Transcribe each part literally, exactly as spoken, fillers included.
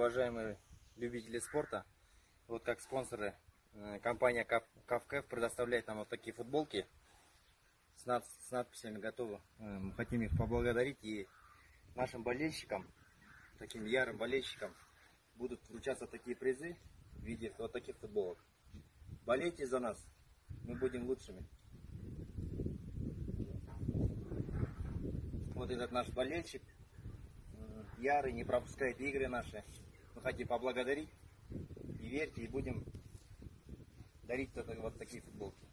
уважаемые любители спорта. Вот как спонсоры компания КАФКФ предоставляет нам вот такие футболки с, над, с надписями «Готовы». Мы хотим их поблагодарить, и нашим болельщикам, таким ярым болельщикам, будут вручаться такие призы в виде вот таких футболок. Болейте за нас, мы будем лучшими. Вот этот наш болельщик, ярый, не пропускает игры наши. Мы хотим поблагодарить, и верьте, и будем дарить вот такие футболки.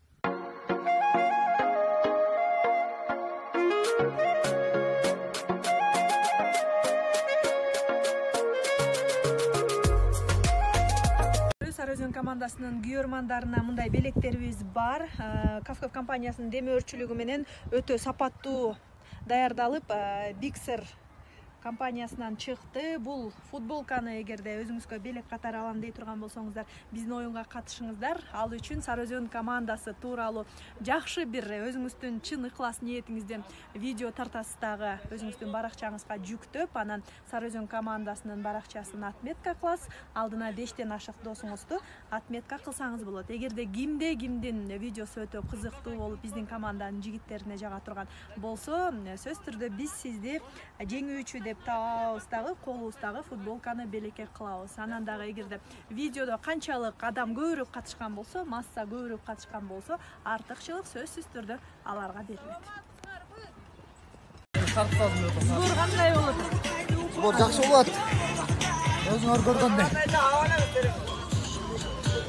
Сарыөзөн командасынын күйөрмандарына мындай белектерибиз бар. КАФКФ компаниясынын демөөрчүлүгү менен өтө сапаттуу даярдалып, Bixer компаниясынан чыкты. Бул футболканы эгерде өзүңүзгө белек катары алам дей турган болсоңуздар, биздин оюнга катышыңыздар. Ал үчүн Сарыөзөн командасы тууралуу жакшы бир өзүңүздүн чын ыклас ниетиңизден видео тартасыз дагы өзүңүздүн баракчаңызга жүктөп, анан Сарыөзөн командасынын баракчасын отметка кыласыз. Алдына бештен ашык досуңузду отметка кылсаңыз болот. Эгерде кимде кимдин видеосу өтө кызыктуу болуп, биздин команданын жигиттерине жага турган болсо, сөзсүз түрдө биз сизди жеңүүчү деп табабыз дагы, колубуздагы футболканы белекке кылабыз. Анан дагы эгерде видеодо канчалык адам көбүрөөк катышкан болсо, масса көбүрөөк катышкан болсо, артыкчылык сөзсүз түрдө аларга берилет. Сбор кандай болот? Сбор жакшы болот. Өзүңөр көргөндөй.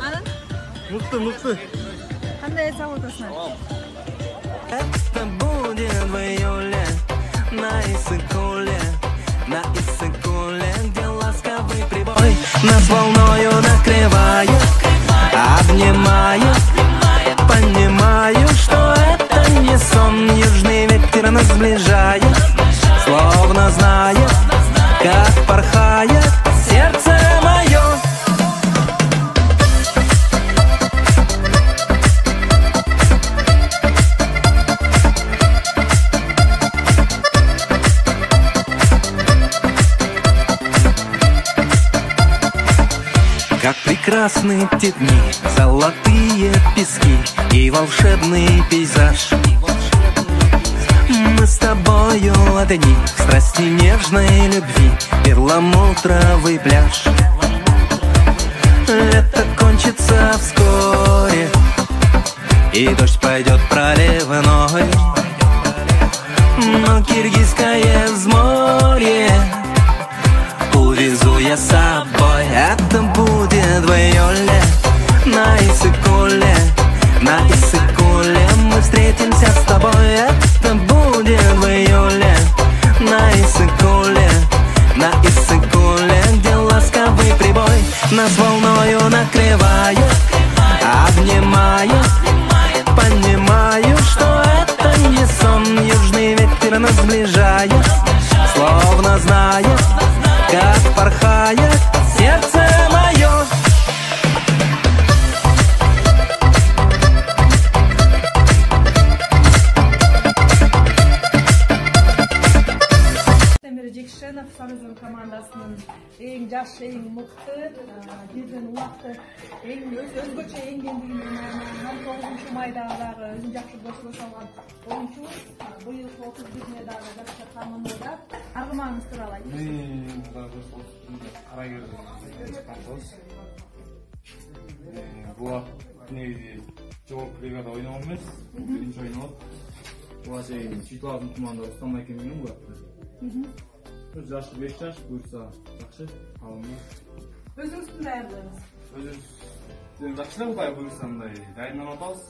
Анан? Мыкты, мыкты. Кандай эс алып атасыңар? Это будет в июле на Иссык-Куле, на Иссык-Куле, где ласковый прибой нас волною накрывает, обнимает, понимаю, что это не сон. Южный ветер нас сближает, словно знает, как порхает сердце мое. Как прекрасны те дни, золотые пески и волшебный пейзаж. Мы с тобою одни в страсти нежной любви, перламутровый пляж. Лето кончится вскоре, и дождь пойдет проливной, но киргизское взморье увезу я с собой. Это будет в июле на Иссык-Куле, на Иссык-Куле мы встретимся с тобой. Это будет в июле на Иссык-Куле, на Иссык-Куле, где ласковый прибой нас волною накрывает, обнимает, понимаю, что это не сон. Южный ветер нас сближает, словно знает, как порхает сердце мое. Жекшенов Сарыөзөн командасынын эң жаш, эң мыкты, бирден убакты, эң өзгөчө эңгендиги менен он тогузунчу майдагы дагы өзүн жакшы көзгө салган оюнчубуз. Быйылкы отуз бирине дагы жакшы тамамдады. Аргымагыңыз тууралуу айтыңыз. Мен дагы отуз биринде Карагерден чыкканбыз. Буга негизи жогорку бригада ойногон эмес, биринчи ойноо. Буга чейин Чүйтлаздын команда Рустам Айкен менен бурат. Жашы беш жаш, буюрса жакшы, калымы. Өзүңүздүн даярдыгыңыз? Өзүбүз жакшы да Кудай буюрса мындай дайындап атабыз.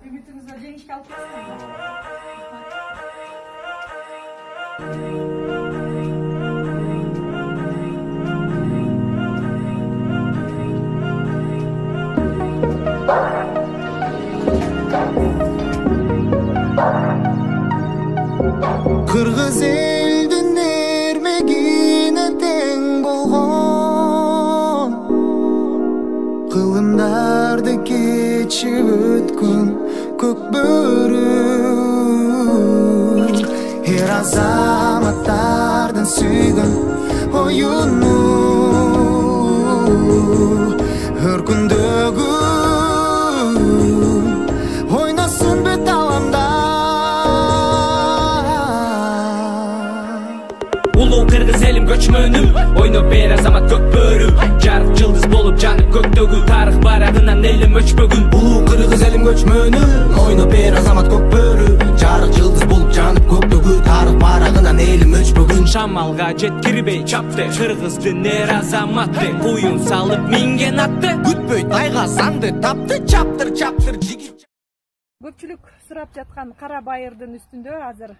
Үмүтүңүздө жеңишке алып келесизби? Кыргыз элдин эрмегине тең болгон, кылымдарды кечип өткөн көк бөрү эр азаматтардын сүйгөн оюну өр күндөгү ойносын бет аламда улуу кыргыз элим көчмөнүм ойноп бер азамат көк бөрү жарык жылдыз болуп жанып көктөгү тарых барагынан элим өчпөгүн улуу кыргыз элим көчмөнүм ойноп бер азамат көк бөрү жарык жылдыз болуп жанып көктөгү тарых барагынан элим өчпөгүн шамалга жеткирбей чапты кыргыздын эр азаматы буюн салып минген атты күтпөй тайга санды тапты чаптыр чаптыр жигит көпчүлүк сурап жаткан кара байырдын үстүндө азыр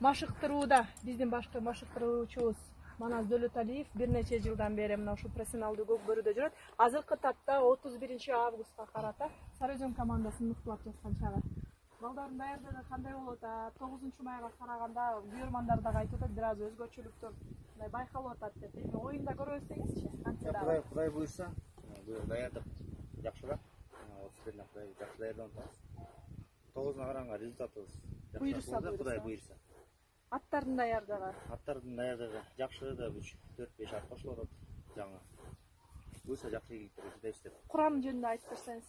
машыктырууда биздин башкы машыктыруучубуз Манас Дөлөталиев бир нече жылдан бери мына ушул профессионалдуу көк бөрүдө жүрөт. Азыркы тапта отуз биринчи августка карата Сары Өзөн командасын мыктылап жаткан чагы. Балдардын даярдыгы кандай болуп атат? тогузунчу майга караганда күйөрмандар дагы айтып атат, бир аз өзгөчөлүктөр мындай байкалып атат деп. Эми оюнда көрөбүз деңизчи. Кудай Кудай буйрса, бул даярдык жакшыраак. отуз биринде Кудай жакшы даярданып атабыз. тогузуна караганга результатыбыз буйрса, Кудай буйрса. Аттардын даярдыгы. Аттардын даярдыгы жакшы да үч төрт беш ат кошулуп атат. Жаңы. Буйрса жакшы ийгиликтер жетебиз деп. Курам жөнүндө айтып берсеңиз.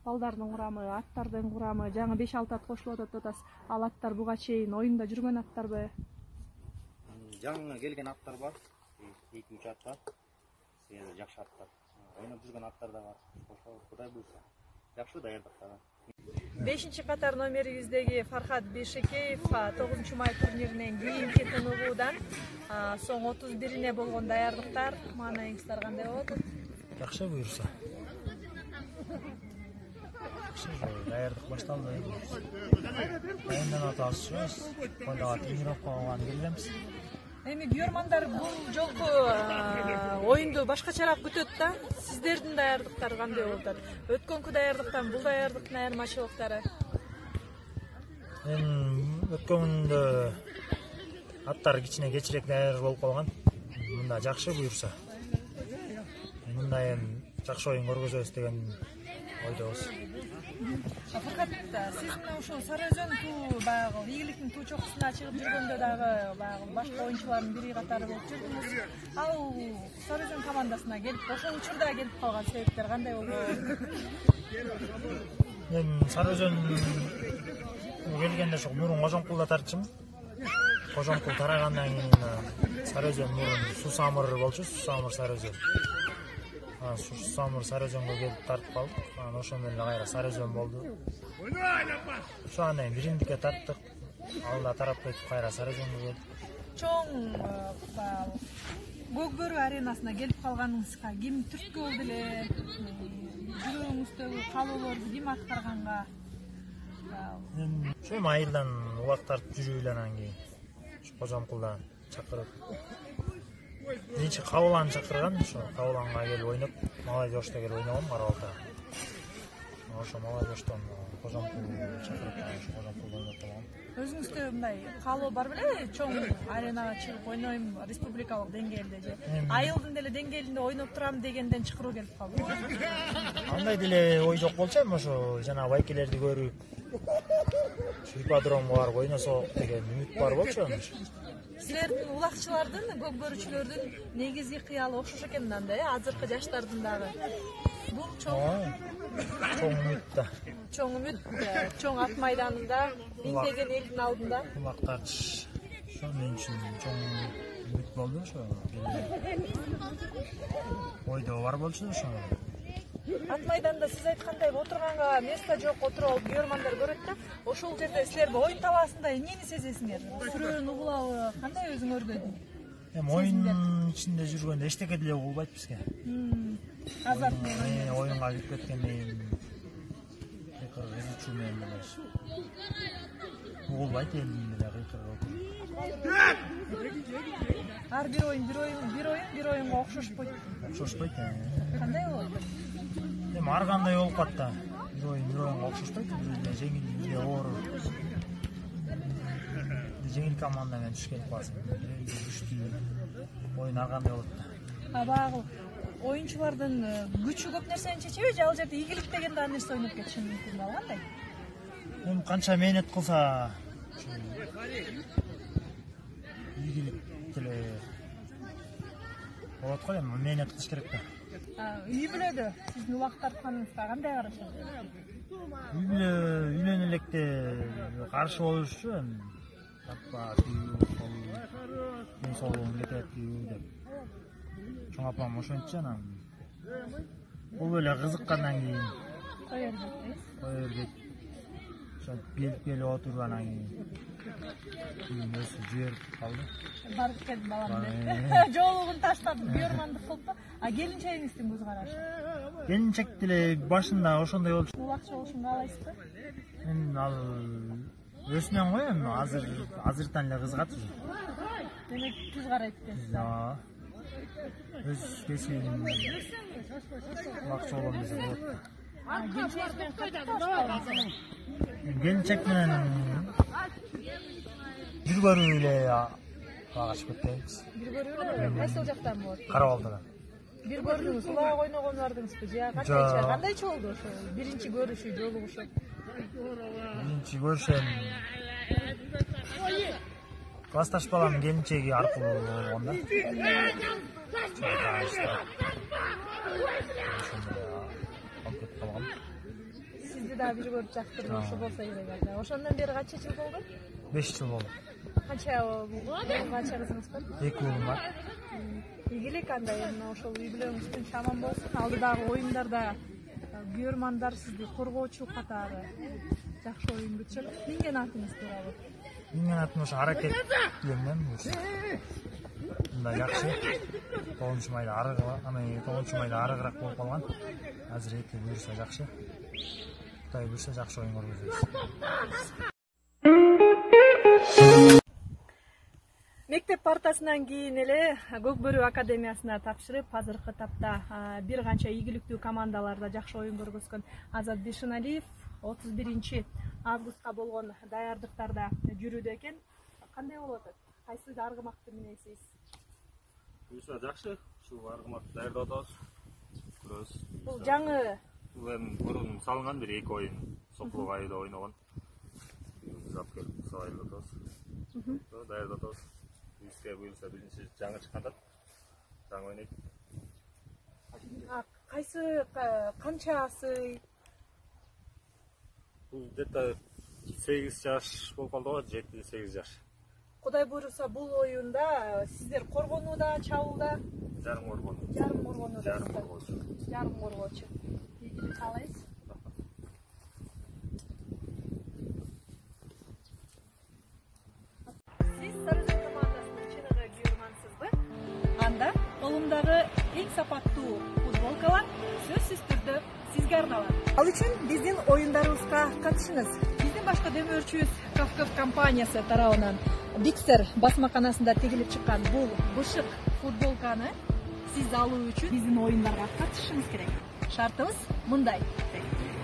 Балдардын курамы, аттардын курамы, жаңы беш алты ат кошулуп атат деп атасыз. Ал аттар буга чейин оюнда жүргөн аттарбы? Жаңы келген аттар бар. эки үч ат бар. Себеби жакшы аттар. Ойноп жүргөн аттар да бар. Ошол Кудай буйрса. Жакшы даярдыктаган. бешинчи катар номерибиздеги Фархат Бейшекеев тогузунчу май турниринен кийинки тыныгуудан соң отуз бирине болгон даярдыктар маанайыңыздар кандай болот? Жакшы буйрса. Даярдык башталды. Дайынданып атабыз. Койдога тренировка кылган келебиз. Эми күйөрмандар бул жолку оюнду башкачараак күтөт да. Сиздердин даярдыктар кандай болуп атат? Өткөнкү даярдыктан бул даярдыктын айырмачылыктары? Эми өткөндө аттар кичине кечирээк даяр болуп калган. Мында жакшы буйрса. Мында эми жакшы оюн көргөзөбүз деген ойдобуз. Факат сиз мына ушул Сары Өзөн туу баягы ийгиликтин туу чокусуна чыгып жүргөндө дагы баягы башка оюнчулардын бири катары болуп жүрдүңүз. Ал Сары Өзөн командасына келип, ошол учурда келип калган себептер кандай болду? Мен Сары Өзөн келгенде ошол мурун Кожомкулда тартчумун. Кожомкул тарагандан кийин Сары Өзөн мурун Сусамыр болчу, Сусамыр Сары Өзөн. Сусамыр Сары Өзөнгө келип тартып калдык. Анан ошондон эле кайра Сары Өзөн болду. Ошо анан бириндикке тарттык. Алда тарап кетип кайра Сары Өзөнгө келдик. Чоң көк бөрү аренасына келип калганыңызга ким түрткү болду эле? Жүрөгүңүздөгү каалоолорду ким аткарганга? Ошо айылдан улак тартып жүрүп эле анан кийин Кожомкулдан чакырып биринчи Кабылан чакырган, ошо Кабыланга келип ойноп, Малайзошто келип ойногом Карабалта. Ошо Малайзоштон Кожомкул чакырып, ошо Кожомкулда ойноп калгам. Өзүңүздө мындай каалоо бар беле? Чоң аренага чыгып ойнойм республикалык деңгээлде же айылдын деле деңгээлинде ойноп турам дегенден чакыруу келип калды. Андай деле ой жок болчу, эми ошо жана байкелерди көрүп ипподромго барып ойносок деген үмүт бар болчу. Силердин улакчылардын, көк бөрүчүлөрдүн негизги кыялы окшош экен да, э, азыркы жаштардын дагы. Бул чоң чоң үмүт да. Чоң үмүт, чоң ат майданында, миңдеген элдин алдында. Улак тартыш. Ошо мен үчүн чоң үмүт болду ошо. Ойдо бар болчу ошо. Ат майданда сиз айткандай отурганга место жок, отуруп алып күйөрмандар көрөт да, ошол жерде силер оюн талаасында эмнени сезесиңер? Сүрөөнү угулабы, кандай өзүңөргө? Эми оюн ичинде жүргөндө эчтеке деле угулбайт бизге. Азарт менен оюнга кирип кеткенден кыйкыр кызычуу менен эле угулбайт элдин деле кыйкырып. Ар бир оюн, бир оюн, бир оюн, бир оюнга окшошпойт. Окшошпойт. Кандай болот? Эми ар кандай болуп калат да. Бир оюн, бир оюнга окшошпойт. Бирде жеңил, бирде оор. Жеңил команда менен түшкөн каласың. Күчтүү оюн ар кандай болот да. А багы оюнчулардын күчү көп нерсени чечеби же ал жерде ийгилик деген да нерсе ойноп кетиши мүмкүн да, кандай? Эми канча мээнет кылса, ийгилик деле болот го, эми мээнет кылыш керек да. Үй бүлөдө сиздин убакыт тартканыңызга кандай карашат? Үй бүлө үйлөнө электе каршы болушчу, эми апа түйүү, мен соолугум кетет түйүү деп. Чоң апам ошентчи, анан бул эле кызыккандан кийин Кое бербейт. кое бербейт. Ошентип келип келип отуруп анан кийин кийин өзү жиберип калды. Барып келдим балам деп. Жоолугун таштап бүйөрмандык кылыппы. А келинчегиңиздин көз карашы? Келинчек деле башында ошондой болчу. Улакчы болушун каалайсызбы? Мен ал өсүнөн го, эми азыр азыртан эле кызыгат уже. Демек түз карайт экенсиз. Өз кесибим убакчы болгон кезде болот. Келинчегиңиз менен кантип? Келинчек менен бир көрүү эле багашып кетпейбиз. Бир көрүү эле? Кайсыл жактан болот? Кара Балдыдан. Бир көрдүңүз, улаак ойногон бардыңызбы? Же кандайча? Кандайча болду ошо? Биринчи көрүшүү, жолугушуу? Биринчи көрүшөм классташ баланын келинчеги аркылуу болгон да. Сизди да бир көрүп жактырган болсо керек эле. Ошондон бери канча жыл болду? беш жыл болду. Канча канча кызыңыз бар? эки уулум бар. Ийгилик андай, мына ошол үй бүлөңүз тынч аман болсун. Алдыдагы оюндарда күйөрмандар сизди коргоочу катары жакшы оюн бүтүшөт. Эмнеген атыңыз тууралуу? Менин атым ошо аракет билем өзү. Мындай жакшы. тогузунчу майда арыгы, аны тогузунчу майда арыгыраак болуп калган. Азыр эки буюрса жакшы. Кудай буюрса жакшы оюн көргөзөбүз. Мектеп партасынан кийин эле Көк Бөрү академиясына тапшырып, азыркы тапта бир канча ийгиликтүү командаларда жакшы оюн көргөзгөн Азат Бишеналиев отуз биринчи августка болгон даярдыктарда жүрүүдө экен. Кандай болуп атат? Кайсы аргымакты минесиз? Буюрса жакшы, ушул аргымакты даярдап атабыз. Көрөбүз. Бул жаңы. Бул эми мурун салынган бир эки оюн Соклук айда ойногон. Зап келип салып атабыз. Даярдап атабыз. Бизге буюрса биринчи жаңы чыккан, жаңы ойнойт. Кайсы канчасы? Бул где-то сегиз жаш болуп калды го, жети сегиз жаш. Кудай буйруса бул оюнда сиздер коргонууда, чабууда? Жарым коргонуу. Жарым коргонуу. Жарым коргоочу. Жарым коргоочу. Ийгилик каалайбыз. Сиз Сарыөзөн командасынын чыныгы күйөрмансызбы? Анда колумдагы эң сапаттуу футболкалар сөзсүз түрдө сизге арналат. Ал үчүн биздин оюндарыбызга катышыңыз. Биздин башкы демөөрчүбүз Кавков компаниясы тарабынан Биксер басмаканасында тегилип чыккан бул бышык футболканы сиз алуу үчүн биздин оюндарга катышыңыз керек. Шартыбыз мындай.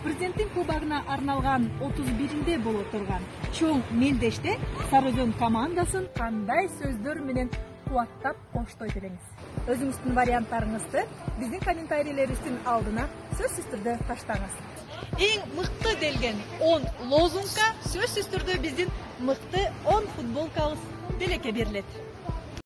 Президенттин кубогуна арналган отуз биринде боло турган чоң мелдеште Сарыөзөн командасын кандай сөздөр менен кубаттап коштойт элеңиз? Өзүңүздүн варианттарыңызды биздин комментарийлерибиздин алдына сөзсүз түрдө таштаңыз. Эң мыкты делген он лозунгка сөзсүз түрдө биздин мыкты он футболкабыз белекке берилет.